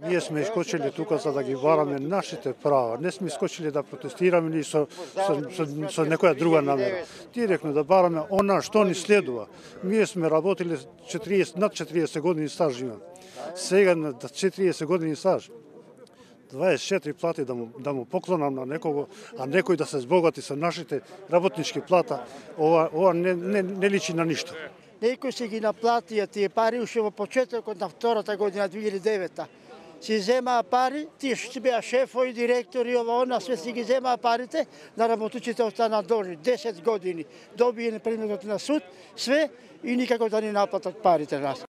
Ние сме искочили тука за да ги бараме нашите права. Не сме искочили да протестираме ни со некоја друга намера. Директно да бараме она што ни следува. Ние сме работили над 40 години стаж имам. Сега на 40 години стаж 24 плати да му поклонам на некого, а некој да се збогати со нашите работнички плата, ова не личи на ништо. Некој си ги наплатија тие пари уште во почетокот на втората година 2009. Си земаа пари, тие што беа шефови, директори, ова она, све си ги земаа парите, на работниците останаа должни 10 години. Добиен предметот на суд, све и никако да ни наплатат парите нас.